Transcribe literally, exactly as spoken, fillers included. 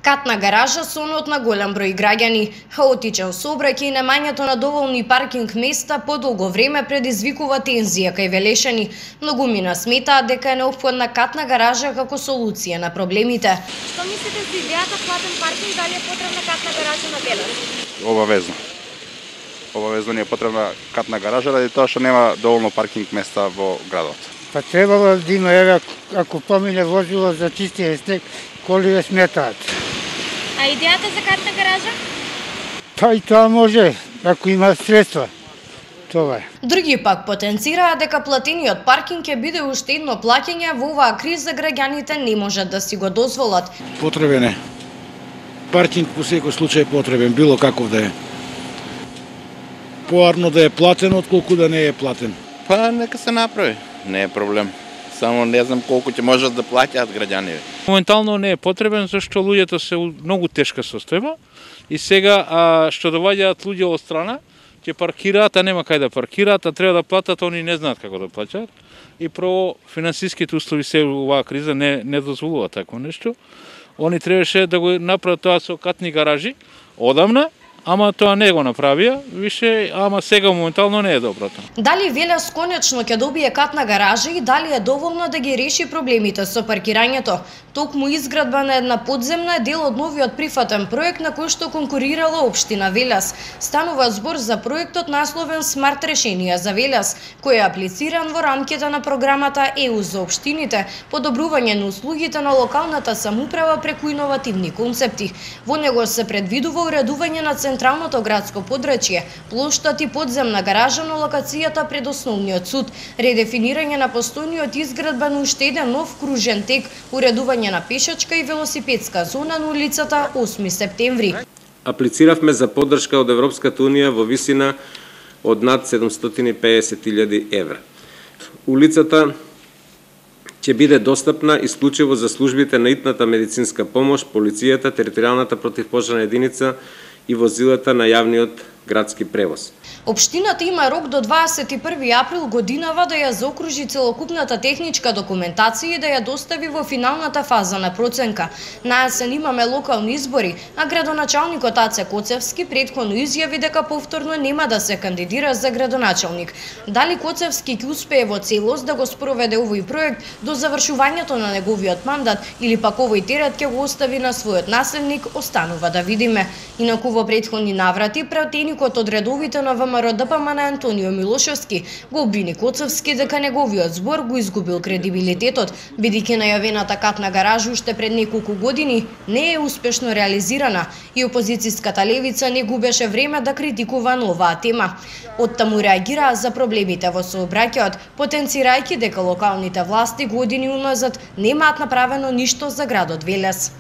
Катна гаража сонот на голем број граѓани, хаотичен сообраќај и немањето на доволни паркинг места подолго време предизвикува тензија кај Велешани. Многумина сметаат дека е неопходна катна гаража како солуција на проблемите. Што мислите за идејата платен паркинг, дали е потребна катна гаража на Велес? Обавезно. Обавезно ни е потребна катна гаража, ради тоа што нема доволно паркинг места во градот. Па требало да има, еве, ако помине возило за чистиње снег, коли ве сметаат. А идејата за катна гаража? Па и тоа може, ако има средства. Това е. Други пак потенцираат дека платениот паркинг ќе биде уште едно плаќање во оваа криза, граѓаните не можат да си го дозволат. Потребен е. Паркинг по секој случај потребен, било каков да е. Поарно да е платен, отколку да не е платен. Па нека се направи, не е проблем. Само не знам колку ќе можат да плаќаат граѓани. Моментално не е потребен, зашто луѓето се у многу тешка состојба и сега а, што доваѓаат луѓе од страна, ќе паркираат, а нема кај да паркираат, а треба да платат, они не знаат како да плаќаат. И прво финансиските услови се оваа криза не не дозволува такво нешто. Они требаше да го направат тоа со катни гаражи одамна, ама тоа не го направија, више, ама сега моментално не е доброто. Дали Велес конечно ќе добие катна гаража и дали е доволно да ги реши проблемите со паркирањето? Токму изградба на една подземна е дел од новиот прифатен проект на кој што конкурирала општина Велес. Станува збор за проектот насловен Смарт решенија за Велес, кој е аплициран во рамките на програмата Е У за општините, подобрување на услугите на локалната самоуправа преку иновативни концепти. Во него се предвидува уредување на централното градско подрачје, плоштад и подземна гаража на локацијата пред основниот суд, редефинирање на постојниот изградба на уште еден нов кружен тек, уредување на пешачка и велосипедска зона на улицата осми септември. Аплициравме за поддршка од Европската унија во висина од над седумстотини и педесет илјади евра. Улицата ќе биде достапна исклучиво за службите на итната медицинска помош, полицијата, територијалната противпожарна единица и возилата на јавниот градски превоз. Општината има рок до дваесет и први април годинава да ја заокружи целокупната техничка документација и да ја достави во финалната фаза на проценка. На есен имаме локални избори, а градоначалникот Аце Коцевски претходно изјави дека повторно нема да се кандидира за градоначалник. Дали Коцевски ќе успее во целост да го спроведе овој проект до завршувањето на неговиот мандат или пак овој терет ќе го остави на својот наследник, останува да видиме. Инаку во претходни наврати пратеникот од редовите на ВМРО-ДПМН на Антонио Милошевски го обвини Коцевски дека неговиот збор го изгубил кредибилитетот, бидејќи најавената катна гаража уште пред неколку години не е успешно реализирана и опозицијската левица не губеше време да критикува на оваа тема. Оттаму реагираа за проблемите во сообраќајот, потенцирајќи дека локалните власти години уназад немаат направено ништо за градот Велес.